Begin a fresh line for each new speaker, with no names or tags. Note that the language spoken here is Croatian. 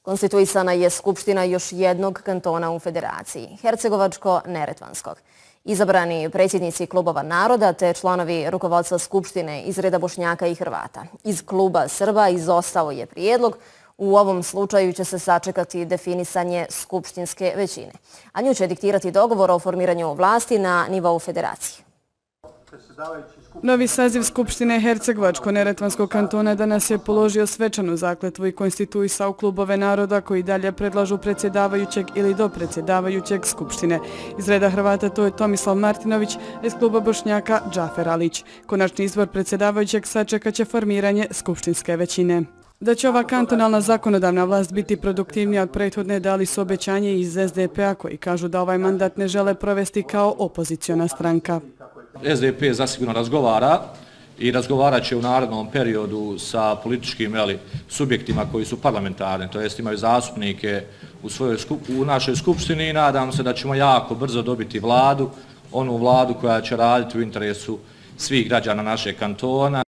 Konstituisana je skupština još jednog kantona u federaciji, Hercegovačko-Neretvanskog. Izabrani predsjednici klubova naroda te članovi rukovodstva skupštine iz reda Bošnjaka i Hrvata. Iz kluba Srba izostao je prijedlog. U ovom slučaju će se sačekati definisanje skupštinske većine, a nju će diktirati dogovor o formiranju vlasti na nivou federacije.
Novi saziv Skupštine Hercegovačko-Neretvanskog kantona danas je položio svečanu zakletvu i konstituisao klubove naroda koji dalje predlažu predsjedavajućeg ili dopredsjedavajućeg Skupštine. Iz reda Hrvata to je Tomislav Martinović, a iz kluba Bošnjaka Džafer Alić. Konačni izbor predsjedavajućeg sačekat će formiranje skupštinske većine. Da će ova kantonalna zakonodavna vlast biti produktivnija od prethodne dali su obećanje iz SDP-a koji kažu da ovaj mandat ne žele provesti kao opoziciona stranka.
SDP zasigurno razgovara i razgovarat će u narednom periodu sa političkim subjektima koji su parlamentarni, to jest imaju zastupnike u našoj skupštini i nadam se da ćemo jako brzo dobiti vladu, onu vladu koja će raditi u interesu svih građana našeg kantona.